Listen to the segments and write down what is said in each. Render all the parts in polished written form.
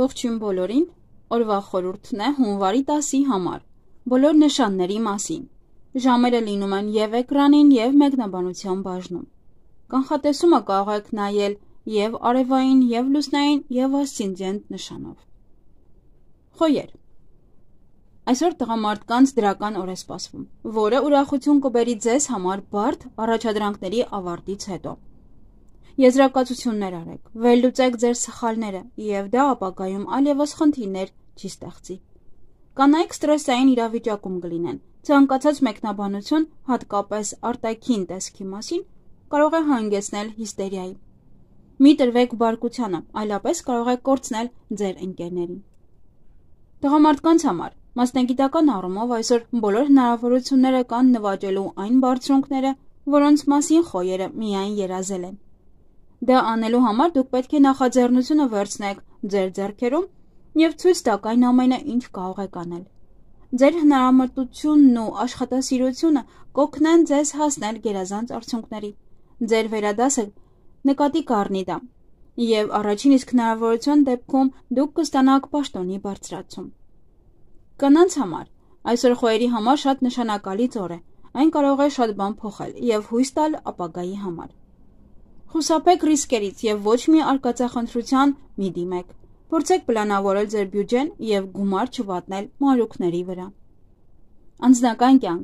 Ողջույն բոլորին, օրվա խորհուրդն է հունվարի 10-ի համար, բոլոր նշանների մասին, ժամերը լինում են և էկրանին և մեկնաբանության բաժնում, կանխատեսումը կարող եք նայել և արևային, և լուսնային, և ասցենդենտ նշանով։ Խոյեր, այսօր տղամարդկանց դրական օր է սպասվում, որը ուրախություն կբերի ձեզ համար բարդ առաջադրանքների ավարտից հետո։ Եզրակացություններ արեք, վերլուծեք ձեր սխալները և դա ապագայում այլևս խնդիրներ չի ստեղծի։ Կանայք ստրեսային իրավիճակում կլինեն, ցանկացած մեկնաբանություն, հատկապես արտաքին տեսքի մասին, կարող է հանգեցնել հիստերիայի։ Մի տրվեք բարկությանը, այլապես կարող է կորցնել ձեր ընկերներին։ Տղամարդկանց համար մասնագիտական առումով այսօր բոլոր հնարավորությունները կան նվաճելու այն բարձունքները, որոնց մասին խոյերը միայն երազել են։ Դա անելու համար դուք պետք է նախաձեռնությունը վերցնեք ձեր ձեռքերում և ցույց տաք այն ամենը, ինչ կարող եք անել։ Ձեր հնարամտությունն ու աշխատասիրությունը կօգնեն ձեզ հասնել գերազանց արդյունքների։ Ձեր վերադասը նկատի կառնի դա, և առաջին իսկ հնարավորության դեպքում դուք կստանաք պաշտոնի բարձրացում։ Կանանց համար այսօր խոյերի համար շատ նշանակալից օր է, այն կարող է շատ բան փոխել և հույս տալ ապագայի համար։ Խուսափեք ռիսկերից և ոչ մի արկածախնդրության մի դիմեք։ Փորձեք պլանավորել ձեր բյուջեն և գումար չվատնել մանրուքների վրա։ Անձնական կյանք,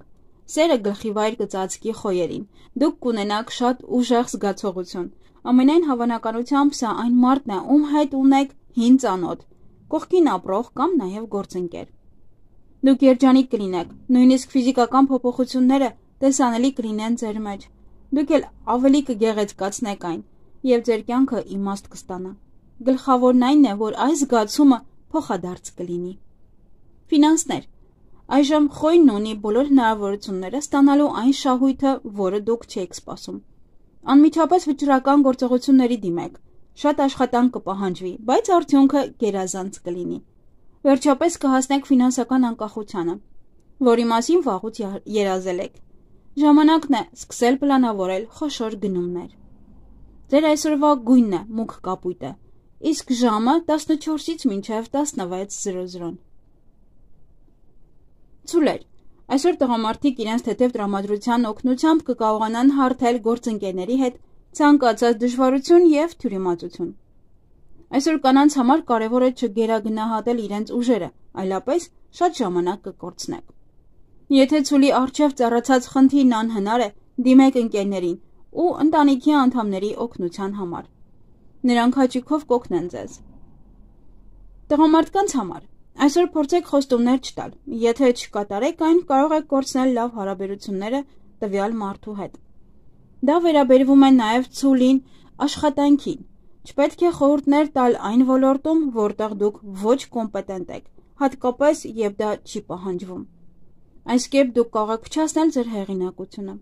սերը գլխիվայր կծածկի խոյերին, դուք կունենաք շատ ուժեղ զգացողություն, ամենայն հավանականությամբ սա այն մարդն է, ում հետ ունեք հին ծանոթ, կողքին ապրող կամ նաև գործընկեր։ Դուք երջանիկ կլինեք, նույնիսկ ֆիզիկական փոփոխությունները տեսանելի կլինեն ձեր մեջ, դուք էլ ավելի կգեղեցկացնեք այն, և ձեր կյանքը իմաստ կստանա։ Գլխավորն այն է, որ այս զգացումը փոխադարձ կլինի։ Ֆինանսներ, այժմ խոյն ունի բոլոր հնարավորությունները ստանալու այն շահույթը, որը դուք չէիք սպասում։ Անմիջապես վճռական գործողությունների դիմեք, շատ աշխատանք կպահանջվի, բայց արդյունքը գերազանց կլինի։ Վերջապես կհասնեք ֆինանսական անկախությանը, որի մասին վաղուց երազել եք։ Ժամանակն է սկսել պլանավորել խոշոր գնումներ։ Ձեր այսօրվա գույնն է մուգ կապույտը, իսկ ժամը 14-ից մինչև 16:00։ Ցուլեր, այսօր տղամարդիկ իրենց թեթև տրամադրության օգնությամբ կկարողանան հարթել գործընկերների հետ ցանկացած դժվարություն և թյուրիմացություն։ Այսօր կանանց համար կարևոր է չգերագնահատել իրենց ուժերը, այլապես շատ ժամանակ կկորցնեք։ Եթե ցուլի առջև ծառացած խնդիրն անհնար է, դիմեք ընկերներին ու ընտանիքի անդամների օգնության համար։ Նրանք հաճույքով կօգնեն ձեզ։ Տղամարդկանց համար այսօր փորձեք խոստումներ չտալ, եթե չկատարեք այն, կարող եք կորցնել լավ հարաբերությունները տվյալ մարդու հետ։ Դա վերաբերվում է նաև ցուլին աշխատանքին։ Չպետք է խորհուրդներ տալ այն ոլորտում, որտեղ դուք ոչ կոմպետենտ եք, հատկապես երբ դա չի պահանջվում։ Այս կերպ դուք կարող եք փչացնել ձեր հեղինակությունը։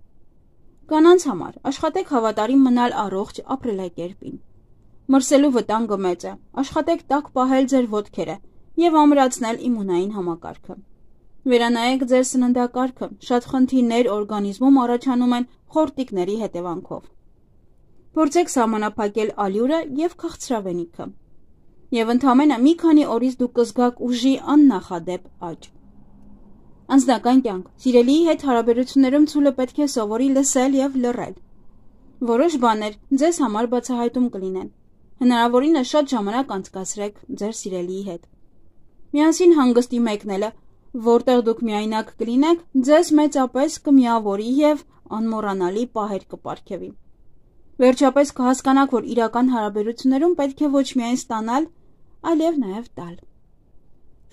Կանանց համար աշխատեք հավատարիմ մնալ առողջ ապրելակերպին։ Մրսելու վտանգը մեծ է, աշխատեք տաք պահել ձեր ոտքերը և ամրացնել իմունային համակարգը։ Վերանայեք ձեր սննդակարգը, շատ խնդիրներ օրգանիզմում առաջանում են խորտիկների հետևանքով։ Փորձեք սահմանափակել ալյուրը և քաղցրավենիքը։ Եվ ընդամենը մի քանի օրից դուք կզգաք ուժի աննախադեպ աճ։ Անձնական կյանք, սիրելիի հետ հարաբերություններում ցուլը պետք է սովորի լսել և լռել։ Որոշ բաներ ձեզ համար բացահայտում կլինեն։ Հնարավորինս շատ ժամանակ անցկացրեք ձեր սիրելիի հետ։ Միասին հանգստի մեկնելը, որտեղ դուք միայնակ կլինեք, ձեզ մեծապես կմիավորի և անմոռանալի պահեր կպարգևի։ Վերջապես կհասկանաք, որ իրական հարաբերություններում պետք է ոչ միայն ստանալ, այլև նաև տալ։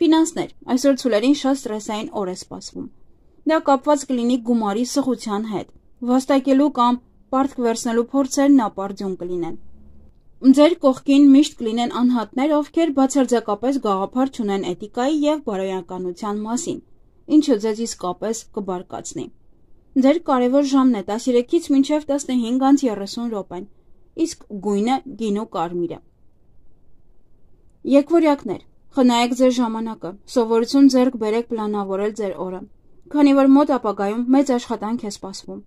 Ֆինանսներ, այսօր ցուլերին շատ ստրեսային օր է սպասվում։ Դա կապված կլինի գումարի սղության հետ, վաստակելու կամ պարտք վերցնելու փորձերն ապարդյուն կլինեն։ Ձեր կողքին միշտ կլինեն անհատներ, ովքեր բացարձակապես գաղափար չունեն էթիկայի և բարոյականության մասին, ինչը ձեզ իսկապես կբարկացնի։ Ձեր կարևոր ժամն է 13-ից մինչև 15:30 րոպեն, իսկ գույնը գինու կարմիրը։ Եկվորյակներ, խնայեք ձեր ժամանակը, սովորություն ձեռք բերեք պլանավորել ձեր օրը, քանի որ մոտ ապագայում մեծ աշխատանք է սպասվում։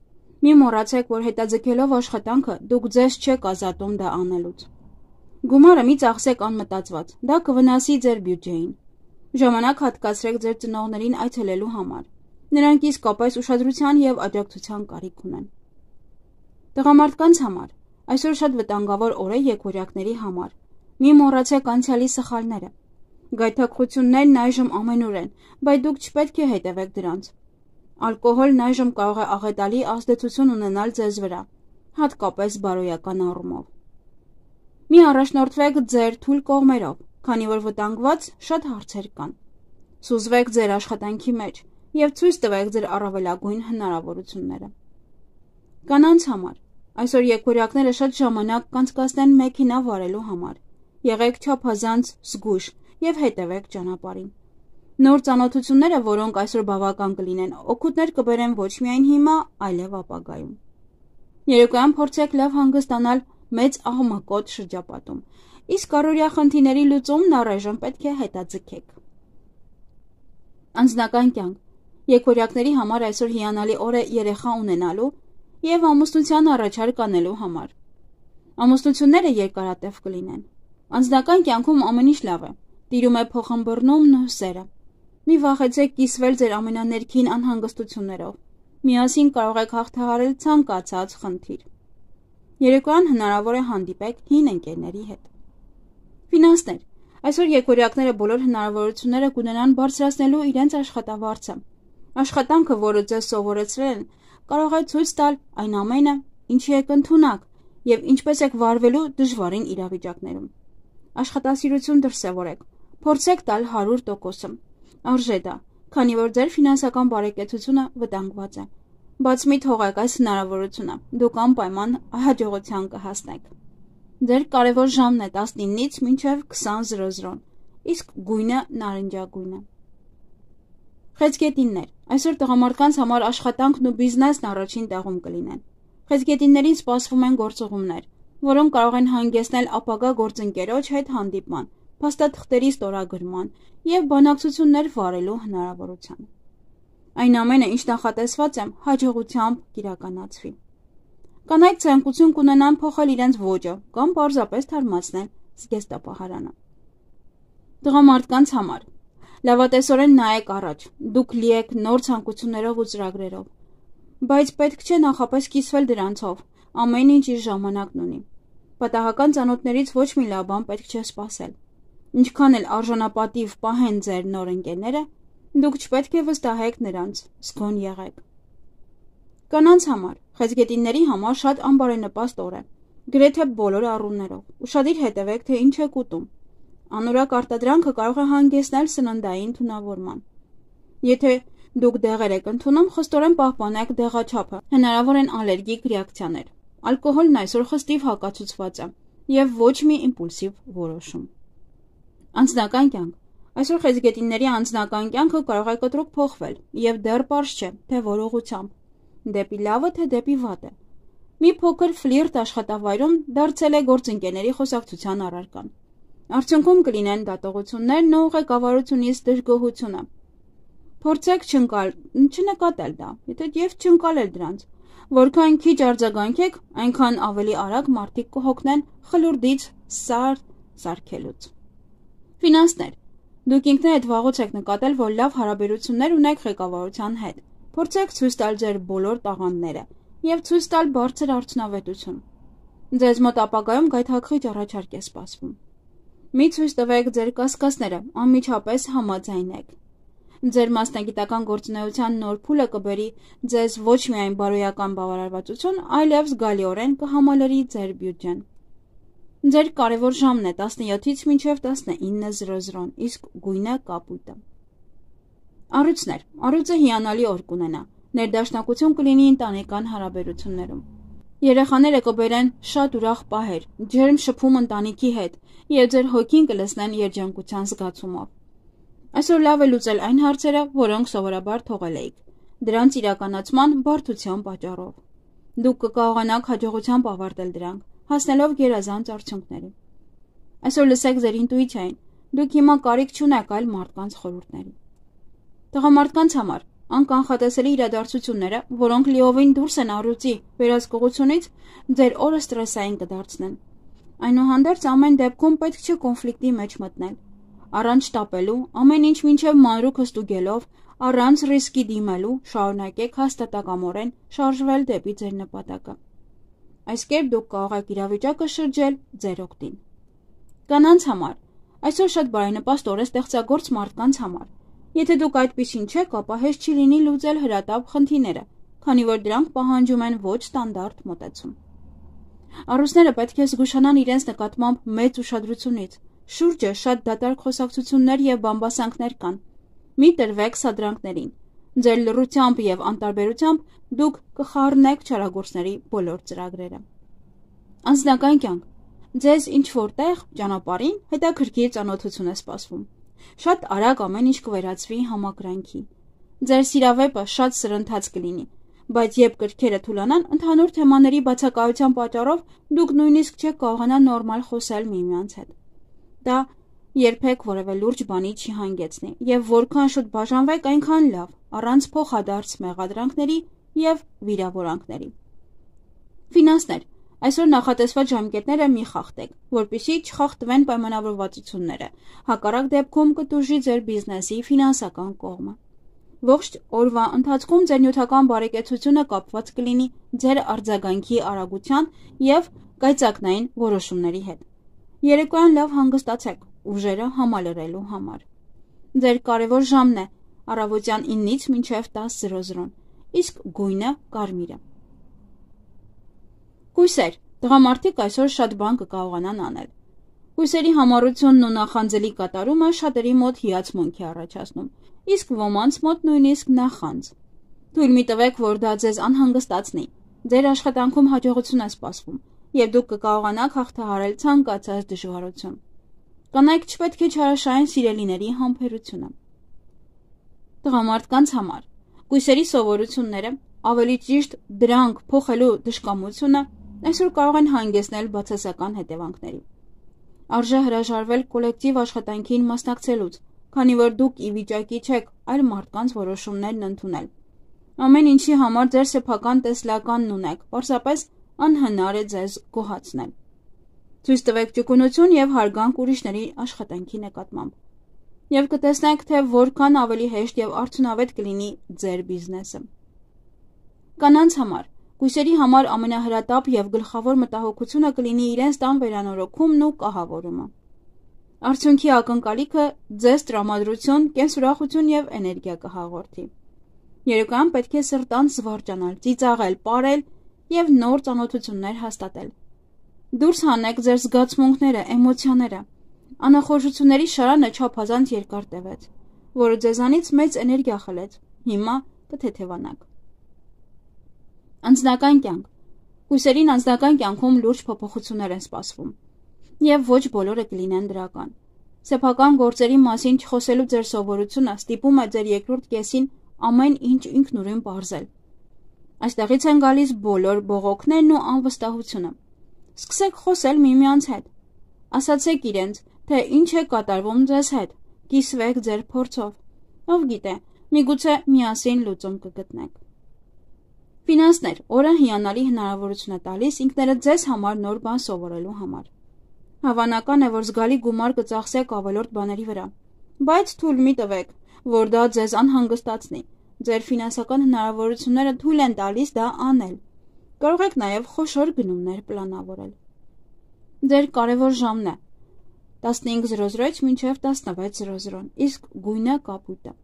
Մի մոռացեք, որ հետաձգելով աշխատանքը դուք ձեզ չեք ազատում դա անելուց։ Գումարը մի ծախսեք անմտածված, դա կվնասի ձեր բյուջեին։ Ժամանակ հատկացրեք ձեր ծնողներին այցելելու համար։ Նրանք իսկապես ուշադրության և աջակցության կարիք ունեն։ Տղամարդկանց համար այսօր շատ վտանգավոր օր է եկորյակների համար։ Մի մոռացեք անցյալի սխալները։ Գայթակղություններն այժմ ամենուր են, բայց դուք չպետք է հետևեք դրանց։ Ալկոհոլն այժմ կարող է աղետալի ազդեցություն ունենալ ձեզ վրա, հատկապես բարոյական առումով։ Մի առաջնորդվեք ձեր թույլ կողմերով, քանի որ վտանգված շատ հարցեր կան։ Սուզվեք ձեր աշխատանքի մեջ և ցույց տվեք ձեր առավելագույն հնարավորությունները։ Կանանց համար այսօր եկորյակները շատ ժամանակ կանցկացնեն մեքենա վարելու համար։ Եղեք չափազանց զգույշ և հետևեք ճանապարհին։ Նոր ծանոթությունները, որոնք այսօր բավական կլինեն, օգուտներ կբերեն ոչ միայն հիմա, այլև ապագայում։ Երեկոյան փորձեք լավ հանգստանալ մեծ աղմկոտ շրջապատում, իսկ առօրյա խնդիրների լուծումն առայժմ պետք է հետաձգեք։ Անձնական կյանք եկորյակների համար այսօր հիանալի օր է երեխա ունենալու և ամուսնության առաջարկ անելու համար։ Ամուսնությունները երկարատև կլինեն։ Անձնական կյանքում ամեն ինչ լավ է, տիրում է փոխըմբռնումն ու սերը։ Մի վախեցեք կիսվել ձեր ամենաներքին անհանգստություններով։ Միասին կարող եք հաղթահարել ցանկացած խնդիր։ Երեկոյան հնարավոր է հանդիպեք հին ընկերների հետ։ Ֆինանսներ այսօր եկորյակները բոլոր հնարավորությունները կունենան բարձրացնելու իրենց աշխատավարձը։ Աշխատանքը, որը ձեզ սովորեցրել են, կարող է ցույց տալ այն ամենը, ինչի եք ընդունակ և ինչպես եք վարվելու դժվարին իրավիճակներում։ Աշխատասիրություն դրսևորեք, փորձեք տալ 100%-ը։ Արժե դա, քանի որ ձեր ֆինանսական բարեկեցությունը վտանգված է։ Բաց մի թողեք այս հնարավորությունը, դուք անպայման հաջողության կհասնեք։ Ձեր կարևոր ժամն է 19-ից մինչև 20:00, իսկ գույնը նարնջագույն է։ Խեցգետիններ այսօր տղամարդկանց համար աշխատանքն ու բիզնեսն առաջին տեղում կլինեն։ Խեցգետիններին սպասվում են գործուղումներ, որոնք կարող են հանգեցնել ապագա գործընկերոջ հետ հանդիպման, փաստաթղթերի ստորագրման և բանակցություններ վարելու հնարավորության։ Այն ամենը, ինչ նախատեսված է, հաջողությամբ կիրականացվի։ Կանայք ցանկություն կունենան փոխել իրենց ոճը կամ պարզապես թարմացնել զգեստապահարանը։ Տղամարդկանց համար լավատեսորեն նայեք առաջ, դուք լի եք նոր ցանկություններով ու ծրագրերով, բայց պետք չէ նախապես կիսվել դրանցով, ամեն ինչ իր ժամանակն ունի։ Պատահական ծանոթներից ոչ մի լավ բան պետք չէ սպասել։ Ինչքան էլ արժանապատիվ պահեն ձեր նոր ընկերները, դուք չպետք է վստահեք նրանց, զգոն եղեք։ Կանանց համար խեցգետինների համար շատ անբարենպաստ օր է, գրեթե բոլոր առումներով։ Ուշադիր հետևեք, թե ինչ եք ուտում։ Անորակ արտադրանքը կարող է հանգեցնել սննդային թունավորման։ Եթե դուք դեղեր եք ընդունում, խստորեն պահպանեք դեղաչափը, հնարավոր են ալերգիկ ռեակցիաներ։ Ալկոհոլն այսօր խստիվ հակացուցված է և ոչ մի իմպուլսիվ որոշում։ Անձնական կյանք այսօր խեցգետինների անձնական կյանքը կարող է կտրուկ փոխվել և դեռ պարզ չէ, թե որ ուղղությամբ, դեպի լավը, թե դեպի վատը։ Մի փոքր ֆլիրտ աշխատավայրում դարձել է գործընկերների խոսակցության առարկան։ Արդյունքում կլինեն դատողություններն ու ղեկավարությունից դժգոհությունը։ Փորձեք չնկատել դա, և չընկալել դրանց։ Որքան քիչ արձագանքեք, այնքան ավելի արագ մարդիկ կհոգնեն խլուրդից սարքելուց։ Ֆինանսներ դուք ինքներդ վաղուց եք նկատել, որ լավ հարաբերություններ ունեք ղեկավարության հետ։ Փորձեք ցույց տալ ձեր բոլոր տաղանդները և ցույց տալ բարձր արդյունավետություն։ Ձեզ մոտ ապագայում գայթակղիչ առաջարկ է սպասվում։ Մի ցույց տվեք ձեր կասկածները, անմիջապես համաձայնեք։ Ձեր մասնագիտական գործունեության նոր փուլը կբերի ձեզ ոչ միայն բարոյական բավարարվածություն, այլև զգալիորեն կհամալրի ձեր բյուջեն։ Ձեր կարևոր ժամն է 17-ից մինչև 19:00, իսկ գույնը կապույտը։ Առույցներ առույցը հիանալի օր կունենա, ներդաշնակություն կլինի ընտանեկան հարաբերություններում։ Երեխաները կբերեն շատ ուրախ պահեր, ջերմ շփում ընտանիքի հետ և ձեր հոգին կլցնեն երջանկության զգացումով։ Այսօր լավ է լուծել այն հարցերը, որոնք սովորաբար թողել էիք, դրանց իրականացման բարդության պատճառով։ Դուք կկարողանաք հաջողությամբ ավարտել դրանք, հասնելով գերազանց արդյունքների։ Այսօր լսեք ձեր ինտուիցիային, դուք հիմա կարիք չունեք այլ մարդկանց խորհուրդների։ Տղամարդկանց համար անկանխատեսելի իրադարձությունները, որոնք լիովին դուրս են առյուծի վերահսկողությունից, ձեր օրը սթրեսային կդարձնեն։ Այնուհանդերձ ամեն դեպքում պետք չէ կոնֆլիկտի մեջ մտնել։ Առանց շտապելու, ամեն ինչ մինչև մանրուքը ստուգելով, առանց ռիսկի դիմելու, շարունակեք հաստատակամորեն շարժվել դեպի ձեր նպատակը։ Այս կերպ դուք կարող եք իրավիճակը շրջել ձեր օգտին։ Կանանց համար այսօր շատ բարենպաստ օր է ստեղծագործ մարդկանց համար։ Եթե դուք այդպիսին չեք, ապա հեշտ չի լինի լուծել հրատապ խնդիրները, քանի որ դրանք պահանջում են ոչ ստանդարտ մոտեցում։ Առուսները պետք է զգուշանան իրենց նկատմամբ մեծ ուշադրությունից։ Շուրջը շատ դատարկ խոսակցություններ եւ բամբասանքներ կան։ Մի տրվեք սադրանքներին։ Ձեր լռությամբ եւ անտարբերությամբ դուք կխառնեք չարագործների բոլոր ծրագրերը։ Անձնական կյանք։ Ձեզ ինչ որտեղ ճանապարհին հետաքրքիր ծանոթություն է սպասվում։ Շատ արագ ամեն ինչ կվերածվի համակրանքի։ Ձեր սիրավեպը շատ սրընթաց կլինի, բայց երբ կրքերը թուլանան, ընդհանուր թեմաների բացակայության պատճառով դուք նույնիսկ չեք կարողանա նորմալ խոսել միմյանց հետ։ Դա երբեք որևէ լուրջ բանի չի հանգեցնի, եւ որքան շուտ բաժանվեք, այնքան լավ, առանց փոխադարձ մեղադրանքների եւ վիրավորանքների։ Ֆինանսներ։ Այսօր նախատեսված ժամկետները մի խախտեք, որպեսզի չխախտվեն պայմանավորվածությունները։ Հակառակ դեպքում կտուժի ձեր բիզնեսի ֆինանսական կողմը։ Ողջ օրվա ընթացքում ձեր նյութական բարեկեցությունը կապված կլինի ձեր արձագանքի արագության եւ կայծակնային որոշումների հետ։ Երեկոյան լավ հանգստացեք ուժերը համալրելու համար։ Ձեր կարևոր ժամն է առավոտյան 9-ից մինչև 10:00, իսկ գույնը կարմիրը։ Կույսեր, տղամարդիկ այսօր շատ բան կկարողանան անել։ Կույսերի համառությունն ու նախանձելի կատարումը շատերի մոտ հիացմունք է առաջացնում, իսկ ոմանց մոտ նույնիսկ նախանձ։ Թույլ մի տվեք, որ դա ձեզ անհանգստացնի։ Ձեր աշխատանքում հաջողություն է սպասվում, եւ դուք կկարողանաք հաղթահարել ցանկացած դժվարություն։ Կանայք չպետք է չարաշահեն սիրելիների համբերությունը։ Տղամարդկանց համար կույսերի սովորությունները, ավելի ճիշտ դրանք փոխելու դժկամությունը այսօր կարող են հանգեցնել բացասական հետևանքների։ Արժե հրաժարվել կոլեկտիվ աշխատանքին մասնակցելուց, քանի որ դուք ի վիճակի չեք այլ մարդկանց որոշումներն ընդունել։ Ամեն ինչի համար ձեր սեփական տեսլականն ունեք, պարզապես անհնար է ձեզ գոհացնել։ Ցույց տվեք ճկունություն եւ հարգանք ուրիշների աշխատանքի նկատմամբ։ Եվ կտեսնեք, թե որքան ավելի հեշտ եւ արդյունավետ կլինի ձեր բիզնեսը։ Կանանց համար կույսերի համար ամենահրատապ եւ գլխավոր մտահոգությունը կլինի իրենց տան վերանորոգումն ու կահավորումը։ Արդյունքի ակնկալիքը ձեզ տրամադրություն, կենսուրախություն եւ էներգիա կհաղորդի։ Երեկոյան պետք է սրտան զվարճանալ, ծիծաղել, պարել եւ նոր ծանոթություններ հաստատել։ Դուրս հանեք ձեր զգացմունքները, էմոցիաները։ Անախորժությունների շարանը չափազանց երկար տևեց, որը ձեզանից մեծ էներգիա խլեց։ Հիմա կթեթևանաք։ Անձնական կյանք։ Կույսերին անձնական կյանքում լուրջ փոփոխություններ են սպասվում, եւ ոչ բոլորը կլինեն դրական։ Սեփական գործերի մասին չխոսելու ձեր սովորությունը ստիպում է ձեր երկրորդ կեսին ամեն ինչ ինքնուրույն բարձել։ Այստեղից են գալիս բոլոր բողոքներն ու անվստահությունը։ Սկսեք խոսել միմյանց հետ։ Ասացեք իրենց, թե ինչ է կատարվում ձեզ հետ։ Կիսվեք ձեր փորձով։ Ով գիտե, միգուցե միասին լուծում կգտնեք։ Ֆինանսներ, օրը հիանալի հնարավորություն է տալիս ինքներդ ձեզ համար նոր բան սովորելու համար։ Հավանական է, որ զգալի գումար կծախսեք ավելորդ բաների վրա, բայց թույլ մի տվեք, որ դա ձեզ անհանգստացնի։ Ձեր ֆինանսական հնարավորությունները թույլ են տալիս դա անել։ Կարող եք նաև խոշոր գնումներ պլանավորել։ Ձեր կարևոր ժամն է 15:00-ից մինչև 16:00, իսկ գույնը կապույտը։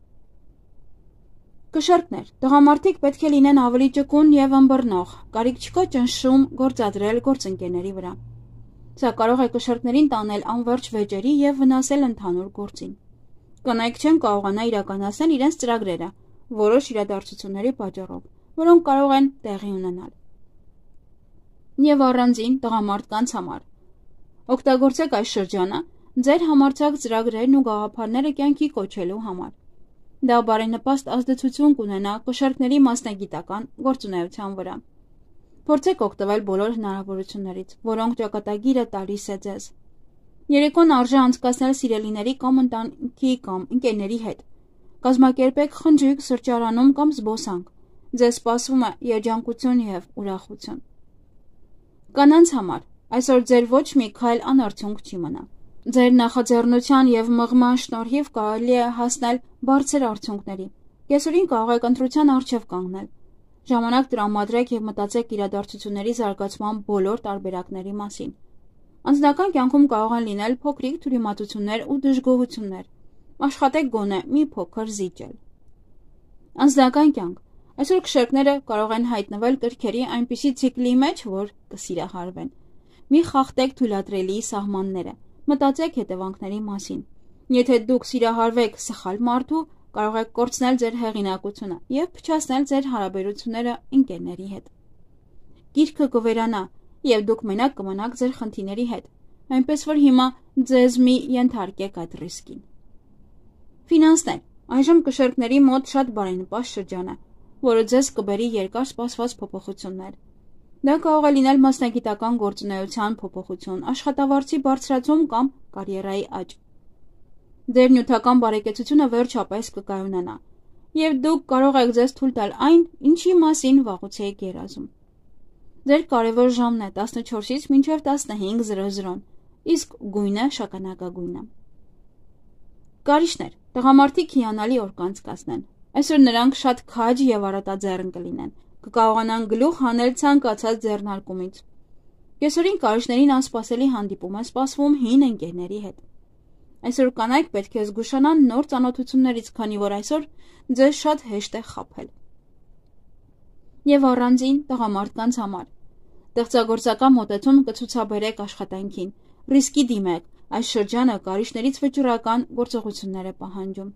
Կշեռքներ, տղամարդիկ պետք է լինեն ավելի ճկուն եւ ըմբռնող, կարիք չկա ճնշում գործադրել գործընկերների վրա։ Սա կարող է կշեռքներին տանել անվերջ վեճերի եւ վնասել ընդհանուր գործին։ Կանայք չեն կարողանա իրականացնել իրենց ծրագրերը որոշ իրադարձությունների պատճառով, որոնք կարող են տեղի ունենալ։ Եվ առանձին տղամարդկանց համար։ Օգտագործեք այս շրջանը ձեր համարձակ ծրագրերն ու գաղափարները կյանքի կոչելու համար։ Դա բարենպաստ ազդեցություն կունենա կշեռքների մասնագիտական գործունեության վրա։ Փորձեք օգտվել բոլոր հնարավորություններից, որոնք ճակատագիրը տալիս է ձեզ։ Երեկոն արժե անցկացնել սիրելիների կամ ընտանիքի կամ ընկերների հետ։ Կազմակերպեք խնջույք սրճարանում կամ զբոսանք։ Ձեզ սպասվում է երջանկություն եւ ուրախություն։ Կանանց համար Այսօր ձեր ոչ մի քայլ անարդյունք չի մնա։ Ձեր նախաձեռնության եւ մղման շնորհիվ կարելի է հասնել բարձր արդյունքների։ Կեսօրին կարող եք ընտրության առջև կանգնել։ Ժամանակ տրամադրեք եւ մտածեք իրադարձությունների զարգացման բոլոր տարբերակների մասին։ Անձնական կյանքում կարող են լինել փոքրիկ թյուրիմացություններ ու դժգոհություններ։ Աշխատեք գոնե մի փոքր զիջել։ Անձնական կյանք։ Այսօր քշերքները կարող են հայտնվել կրքերի այնպիսի ցիկլի մեջ, որ կսիրահարվեն։ Մի խախտեք թույլատրելի սահմանները։ Մտածեք հետևանքների մասին։ Եթե դուք սիրահարվեք սխալ մարդու, կարող եք կորցնել ձեր հեղինակությունը եւ փչացնել ձեր հարաբերությունները ընկերների հետ։ Գիրքը կվերանա եւ դուք մենակ կմնաք ձեր խնդիրների հետ, այնպես որ հիմա ձեզ մի ենթարկեք այդ ռիսկին։ Ֆինանսներ։ Այժմ կշերքների մոտ շատ բարենպաստ շրջան է, որը ձեզ կբերի երկար սպասված փոփոխություններ։ Դա կարող է լինել մասնագիտական գործունեության փոփոխություն, աշխատավարձի բարձրացում կամ կարիերայի աճ։ Ձեր նյութական բարեկեցությունը վերջապես կկայունանա, եւ դուք կարող եք ձեզ թույլ տալ այն, ինչի մասին վաղուց եք երազում։ Ձեր կարևոր ժամն է 14-ից մինչև 15:00, իսկ գույնը շագանակագույնը։ Կարիճներ։ Տղամարդիկ հիանալի օր կանցկացնեն։ Այսօր նրանք շատ քաջ եւ արատաձեռն կլինեն, կկարողանան գլուխ հանել ցանկացած ձեռնարկումից։ Կեսօրին կարիճներին անսպասելի հանդիպում է սպասվում հին ընկերների հետ։ Այսօր կանայք պետք է զգուշանան նոր ծանոթություններից, քանի որ այսօր ձեզ շատ հեշտ է խաբել։ Եվ առանձին տղամարդկանց համար ստեղծագործական մոտեցում կցուցաբերեք աշխատանքին, ռիսկի դիմեք, այս շրջանը կարիճներից վճռական գործողություններ է պահանջում։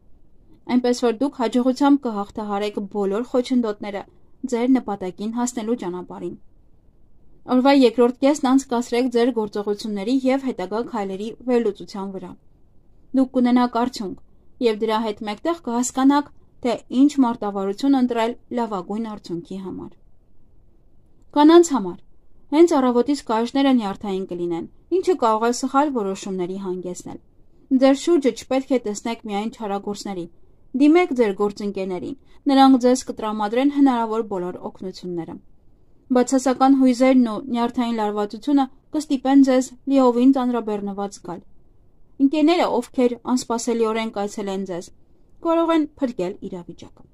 Այնպես որ դուք հաջողությամբ կհաղթահարեք բոլոր խոչընդոտները ձեր նպատակին հասնելու ճանապարհին։ Օրվա երկրորդ կեսն անցկացրեք ձեր գործողությունների եւ հետագա քայլերի վերլուծության վրա։ Դուք կունենաք արդյունք եւ դրա հետ մեկտեղ կհասկանաք, թե ինչ մարտավարություն ընտրել լավագույն արդյունքի համար։ Կանանց համար հենց առավոտից կարիճները նյարդային կլինեն, ինչը կարող է սխալ որոշումների հանգեցնել։ Ձեր շուրջը չպետք է տեսնեք միայն չարագործների։ Դիմեք ձեր գործընկերներին, նրանք ձեզ կտրամադրեն հնարավոր բոլոր օգնությունները։ Բացասական հույզերն ու նյարդային լարվածությունը կստիպեն ձեզ լիովին ծանրաբեռնված գալ։ Ընկերները, ովքեր անսպասելիորեն կայցելեն ձեզ, կարող են փրկել իրավիճակը։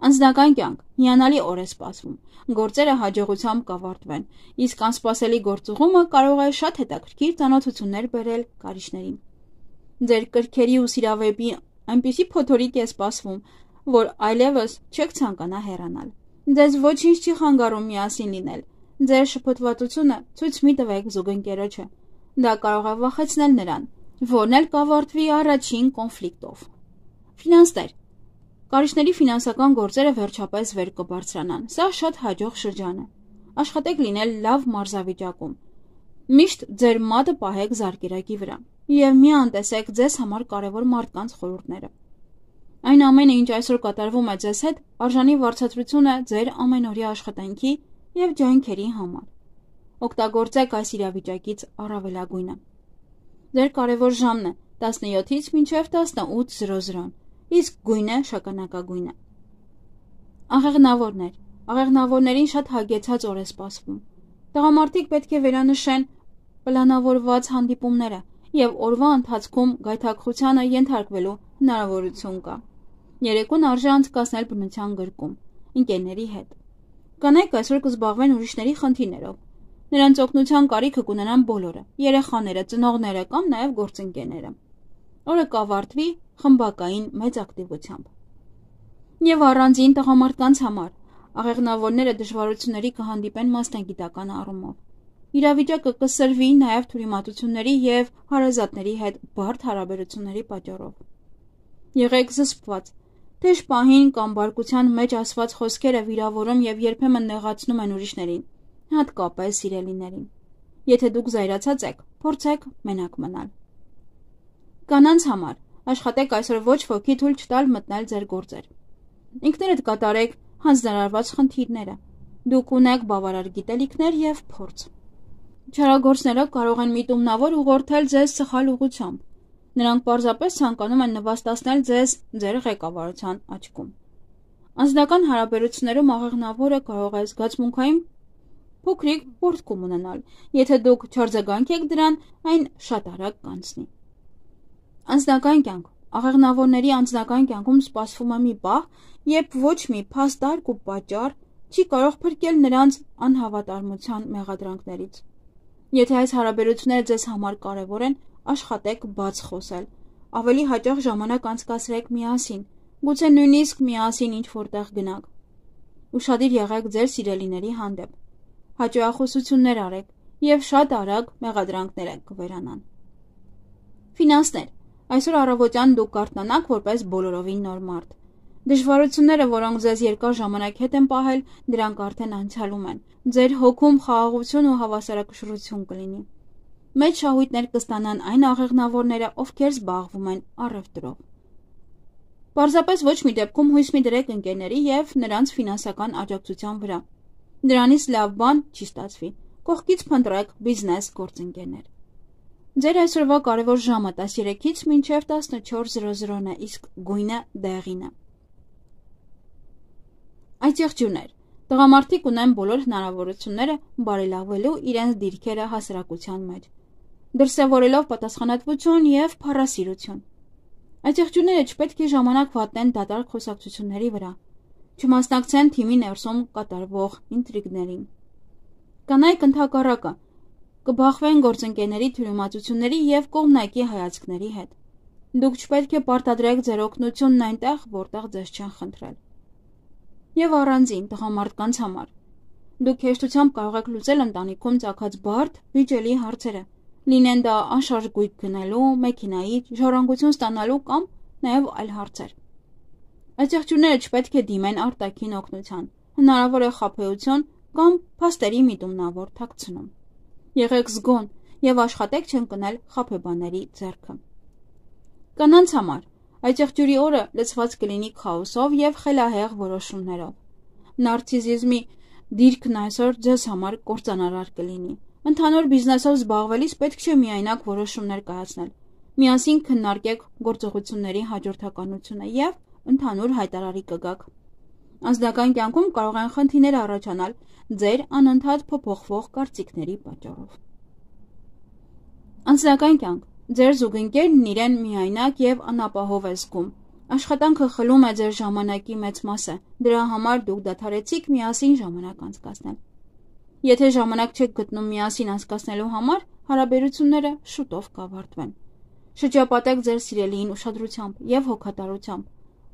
Անձնական կյանք, հիանալի օր է սպասվում, գործերը հաջողությամբ կավարտվեն, իսկ անսպասելի գործուղումը կարող է շատ հետաքրքիր ծանոթություններ բերել կարիճներին։ Ձեր կրքերի ու սիրավեպի այնպիսի փոթորիկ է սպասվում, որ այլևս չեք ցանկանա հեռանալ։ Ձեզ ոչինչ չի խանգարում միասին լինել։ Ձեր շփոթվածությունը ցույց մի տվեք զուգընկերոջը։ Դա կարող է վախեցնել նրան, որն էլ կավարտվի առաջին կոնֆլիկտով։ Ֆինանսներ։ Կարիճների ֆինանսական գործերը վերջապես վեր կբարձրանան։ Սա շատ հաջող շրջան է։ Աշխատեք լինել լավ մարզավիճակում։ Միշտ ձեր մատը պահեք զարկերակի վրա եւ մի անտեսեք ձեզ համար կարևոր մարդկանց խորհուրդները։ Այն ամենը, ինչ այսօր կատարվում է ձեզ հետ, արժանի վարձատրություն է ձեր ամենօրյա աշխատանքի եւ ջանքերի համար։ Օգտագործեք այս իրավիճակից առավելագույնը։ Ձեր կարևոր ժամն է 17-ից մինչև 18:00, իսկ գույնը շագանակագույնը։ Աղեղնավորներ։ Աղեղնավորներին շատ հագեցած օր է սպասվում։ Տղամարդիկ պետք է վերանշեն պլանավորված հանդիպումները եւ օրվա ընթացքում գայթակղությանը ենթարկվելու հնարավորություն կա։ Երեկոն արժե անցկացնել բնության գրկում, ընկերների հետ։ Կանայք այսօր կզբաղվեն ուրիշների խնդիրներով։ Նրանց օգնության կարիքը կունենան բոլորը՝ երեխաները, ծնողները կամ նաեւ գործընկերները։ Օրը կավարտվի խմբակային մեծ ակտիվությամբ։ Եվ առանձին տղամարդկանց համար աղեղնավորները դժվարությունների կհանդիպեն մասնագիտական առումով։ Իրավիճակը կսրվի նաև թյուրիմացությունների եւ հարազատների հետ բարդ հարաբերությունների պատճառով։ Եղեք զսպված, թեժ պահին կամ բարկության մեջ ասված խոսքերը վիրավորում եւ երբեմն նեղացնում են ուրիշներին, հատկապես սիրելիներին։ Եթե դուք զայրացած եք, փորձեք մենակ մնալ։ Կանանց համար աշխատեք այսօր ոչ ոքի թույլ չտալ մտնել ձեր գործեր։ Ինքներդ կատարեք հանձնարարված խնդիրները։ Դուք ունեք բավարար գիտելիքներ եւ փորձ։ Չարագործները կարող են միտումնավոր ուղղորդել ձեզ սխալ ուղղությամբ։ Նրանք պարզապես ցանկանում են նվաստացնել ձեզ ձեր ղեկավարության աչքում։ Անձնական հարաբերություններում աղեղնավորը կարող է զգացմունքային փոքրիկ պորտկում ունենալ։ Եթե դուք չարձագանք եք դրան, այն շատ արագ կանցնի։ Անձնական կյանք։ Աղեղնավորների անձնական կյանքում սպասվում է մի պահ, երբ ոչ մի փաստարկ ու պատճառ չի կարող փրկել նրանց անհավատարմության մեղադրանքներից։ Եթե այս հարաբերությունները ձեզ համար կարևոր են, աշխատեք բաց խոսել, ավելի հաճախ ժամանակ անցկացրեք միասին, գուցե նույնիսկ միասին ինչ-որտեղ գնաք։ Ուշադիր եղեք ձեր սիրելիների հանդեպ, հաճոյախոսություններ արեք և շատ արագ մեղադրանքները կվերանան։ Ֆինանսներ։ Այսօր առավոտյան դուք կարթնանաք որպես բոլորովին նոր մարդ։ Դժվարությունները, որոնք ձեզ երկար ժամանակ հետ են պահել, դրանք արդեն անցյալում են։ Ձեր հոգում խաղաղություն ու հավասարակշռություն կլինի։ Մեծ շահույթներ կստանան այն աղեղնավորները, ովքեր զբաղվում են առևտրով։ Պարզապես ոչ մի դեպքում հույս մի դրեք ընկերների և նրանց ֆինանսական աջակցության վրա։ Դրանից լավ բան չի ստացվի։ Կողքից փնտրեք բիզնես գործընկերներ։ Ձեր այսօրվա կարևոր ժամը 13-ից մինչև 14:00-ն է, իսկ գույնը դեղինը։ Այցեղջյուրներ։ Տղամարդիկ ունեն բոլոր հնարավորությունները բարելավելու իրենց դիրքերը հասարակության մեջ, դրսևորելով պատասխանատվություն և փառասիրություն։ Այցեղջյուրները չպետք է ժամանակ վատնեն դատարկ խոսակցությունների վրա, չմասնակցեն թիմի ներսում կատարվող ինտրիգներին։ Կանայք ընդհակառակը կբախվեն գործընկերների թյուրիմացությունների և կողմնակի հայացքների հետ։ Դուք չպետք է պարտադրեք ձեր օգնությունն այնտեղ, որտեղ ձեզ չեն խնդրել։ Եվ առանձին տղամարդկանց համար։ Դուք հեշտությամբ կարող եք լուծել ընտանիքում ծագած բարդ, վիճելի հարցերը, լինեն դա անշարժ գույք գնելու, մեքենայի ժառանգություն ստանալու կամ նաև այլ հարցեր։ Այցեղջյուրները չպետք է դիմեն արտաքին օգնության, հնարավոր է խաբեություն կամ փաստերի միտումնավոր թաքցնում։ Եղեք զգոն և աշխատեք չընկնել խաբեբաների ձեռքը։ Կանանց համար այցեղջյուրի օրը լցված կլինի քաոսով և խելահեղ որոշումներով։ Նարցիսիզմի դիրքն այսօր ձեզ համար կործանարար կլինի։ Ընդհանուր բիզնեսով զբաղվելիս պետք չէ միայնակ որոշումներ կայացնել։ Միասին քննարկեք գործողությունների հաջորդականությունը և ընդհանուր հայտարարի կգաք։ Անձնական կյանքում կարող են խնդիրներ առաջանալ ձեր անընդհատ փոփոխվող կարծիքների պատճառով։ Անձնական կյանք։ Ձեր զուգընկերն իրեն միայնակ և անապահով է զգում։ Աշխատանքը խլում է ձեր ժամանակի մեծ մասը, դրա համար դուք դադարեցիք միասին ժամանակ անցկացնել։ Եթե ժամանակ չեք գտնում միասին անցկացնելու համար, հարաբերությունները շուտով կավարտվեն։ Շրջապատեք ձեր սիրելիին ուշադրությամբ և հոգատարությամբ։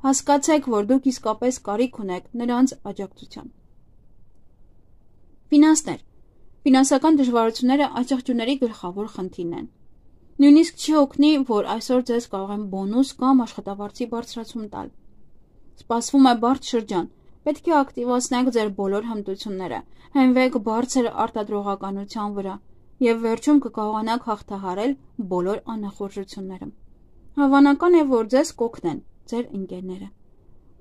Հասկացեք, որ դուք իսկապես կարիք ունեք նրանց աջակցության։ Ֆինանսներ։ Ֆինանսական դժվարությունները այցեղջյուրների գլխավոր խնդիրն են։ Նույնիսկ չի օգնի, որ այսօր ձեզ կարող են բոնուս կամ աշխատավարձի բարձրացում տալ։ Սպասվում է բարդ շրջան, պետք է ակտիվացնեք ձեր բոլոր հմտությունները, հենվեք բարձր արտադրողականության վրա և վերջում կկարողանաք հաղթահարել բոլոր անախորժությունները։ Հավանական է, որ ձեզ կօգնեն ձեր ընկերները։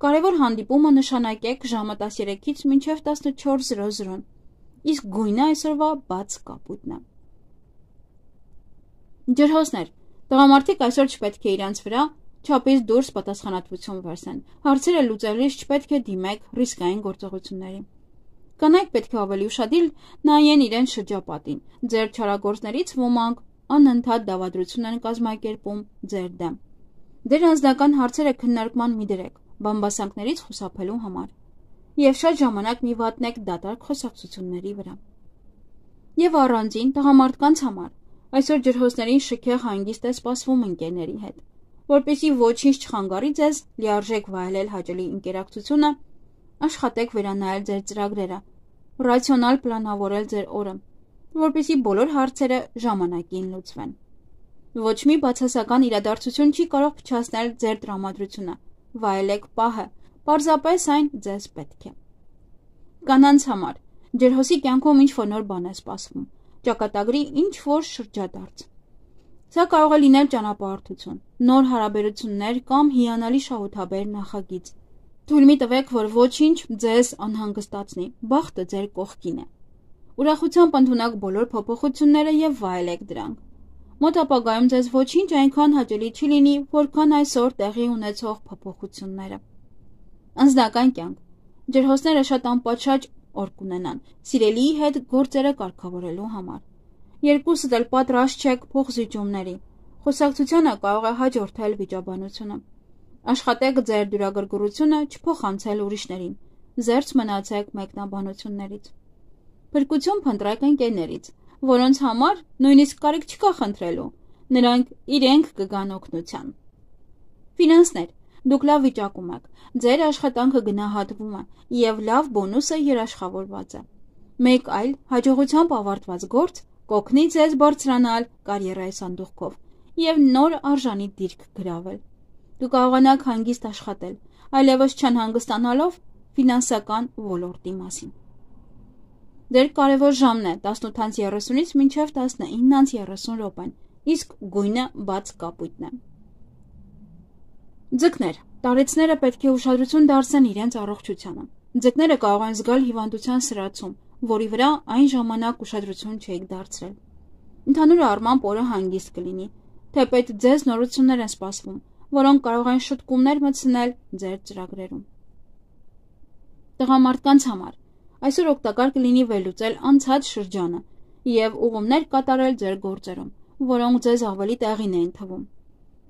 Կարևոր հանդիպումը նշանակեք ժամը 13-ից մինչև 14:00, իսկ գույնը այսօրվա բաց կապույտն է։ Ջրհոսներ։ Տղամարդիկ այսօր չպետք է իրենց վրա չափից դուրս պատասխանատվություն վերցնեն։ Հարցերը լուծելիս չպետք է դիմեք ռիսկային գործողությունների։ Կանայք պետք է ավելի ուշադիր նայեն իրենց շրջապատին։ Ձեր չարագործներից ոմանք անընդհատ դավադրություն են կազմակերպում ձեր դեմ։ Ձեր անձնական հարցերը քննարկման մի դրեք, բամբասանքներից խուսափելու համար։ Եվ շատ ժամանակ մի վատնեք դատարկ խոսակցությունների վրա։ Եվ առանձին տղամարդկանց համար այսօր ջրհոսներին շքեղ հանգիստ է սպասվում ընկերների հետ։ Որպեսզի ոչինչ չխանգարի ձեզ լիարժեք վայելել հաճելի ընկերակցությունը, աշխատեք վերանայել ձեր ծրագրերը, ռացիոնալ պլանավորել ձեր օրը, որպեսզի բոլոր հարցերը ժամանակին լուծվեն։ Ոչ մի բացասական իրադարձություն չի կարող փչացնել ձեր տրամադրությունը։ Վայելեք պահը, պարզապես այն ձեզ պետք է։ Կանանց համար ջրհոսի կյանքում ինչ-որ նոր բան է սպասվում, ճակատագրի ինչ-որ շրջադարձ։ Սա կարող է լինել ճանապարհորդություն, նոր հարաբերություններ կամ հիանալի շահութաբեր նախագիծ։ Թույլ մի տվեք, որ ոչինչ ձեզ անհանգստացնի, բախտը ձեր կողքին է։ Ուրախությամբ ընդունեք բոլոր փոփոխությունները և վայելեք դրանք։ Մոտ ապագայում ձեզ ոչինչ այնքան հաճելի չի լինի, որքան այսօր տեղի ունեցող փոփոխությունները։ Անձնական կյանք։ Ջրհոսները շատ անպատշաճ օր կունենան սիրելիի հետ գործերը կարգավորելու համար։ Երկուսդ էլ պատրաստ չեք փոխզիջումների։ Խոսակցությանը կարող է հաջորդել վիճաբանությունը։ Աշխատեք ձեր դյուրագրգռությունը չփոխանցել ուրիշներին։ Զերծ մնացեք մեկնաբանություններից։ Փրկություն փնտրեք ընկերներից, որոնց համար նույնիսկ կարիք չկա խնդրելու, նրանք իրենք կգան օգնության։ Ֆինանսներ։ Դուք լավ վիճակում եք, ձեր աշխատանքը գնահատվում է և լավ բոնուսը երաշխավորված է։ Մեկ այլ հաջողությամբ ավարտված գործ կօգնի ձեզ բարձրանալ կարիերայի սանդուղքով և նոր արժանի դիրք գրավել։ Դուք կարողանաք հանգիստ աշխատել, այլևս չանհանգստանալով ֆինանսական ոլորտի մասին։ Ձեր կարևոր ժամն է 18:30-ից մինչև 19:30 րոպեն, իսկ գույնը բաց կապույտն է։ Ձկներ։ Տարեցները պետք է ուշադրություն դարձնեն իրենց առողջությանը։ Ձկները կարող են զգալ հիվանդության սրացում, որի վրա այն ժամանակ ուշադրություն չէիք դարձրել։ Ընդհանուր առմամբ օրը հանգիստ կլինի, թեպետ ձեզ նորություններ են սպասվում, որոնք կարող են շտկումներ մտցնել ձեր ծրագրերում։ Տղամարդկանց համար այսօր օգտակար կլինի վերլուծել անցած շրջանը և ուղումներ կատարել ձեր գործերում, որոնք ձեզ ավելի տեղին էին թվում։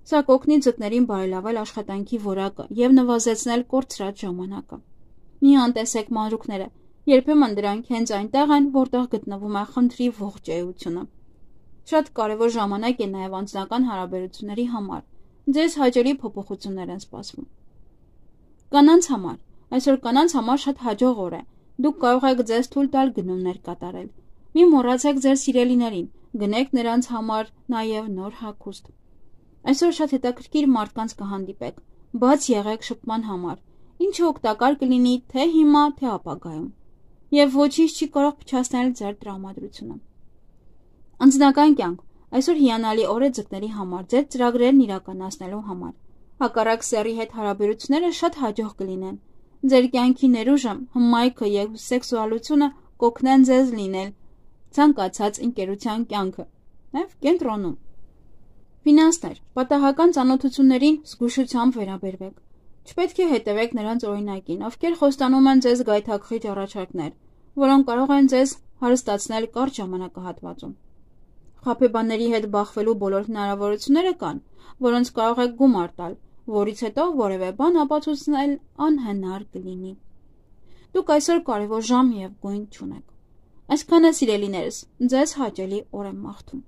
Սա կօգնի ձկներին բարելավել աշխատանքի որակը և նվազեցնել կորցրած ժամանակը։ Մի անտեսեք մանրուքները, երբեմն դրանք հենց այնտեղ են, որտեղ գտնվում է խնդրի ողջ էությունը։ Շատ կարևոր ժամանակ է նաև անձնական հարաբերությունների համար։ Ձեզ հաճելի փոփոխություններ են սպասվում։ Կանանց համար այսօր կանանց համար շատ հաջող օր է։ Դուք կարող եք ձեզ թույլ տալ գնումներ կատարել։ Մի մոռացեք ձեր սիրելիներին, գնեք նրանց համար նաև նոր հագուստ։ Այսօր շատ հետաքրքիր մարդկանց կհանդիպեք, բաց եղեք շփման համար, ինչը օգտակար կլինի թե հիմա, թե ապագայում, և ոչինչ չի կարող փչացնել ձեր տրամադրությունը։ Անձնական կյանք այսօր հիանալի օր է ձկների համար ձեր ծրագրերն իրականացնելու համար։ Հակառակ սեռի հետ հարաբերությունները շատ հաջող կլինեն։ Ձեր կյանքի ներուժը, հմայքը և սեքսուալությունը կօգնեն ձեզ լինել ցանկացած ընկերության կյանքը, նաև կենտրոնում։ Ֆինանսներ։ Պատահական ծանոթություններին զգուշությամբ վերաբերվեք։ Չպետք է հետևեք նրանց օրինակին, ովքեր խոստանում են ձեզ գայթակղիչ առաջարկներ, որոնք կարող են ձեզ հարստացնել կարճ ժամանակահատվածում։ Խաբեբաների հետ բախվելու բոլոր հնարավորությունները կան, որոնց կարող եք գումար տալ, որից հետո որևէ բան ապացուցնել անհնար կլինի։ Դուք այսօր կարևոր ժամ և գույն չունեք։ Այսքանը սիրելիներս, ձեզ հաճելի օր եմ մաղթում։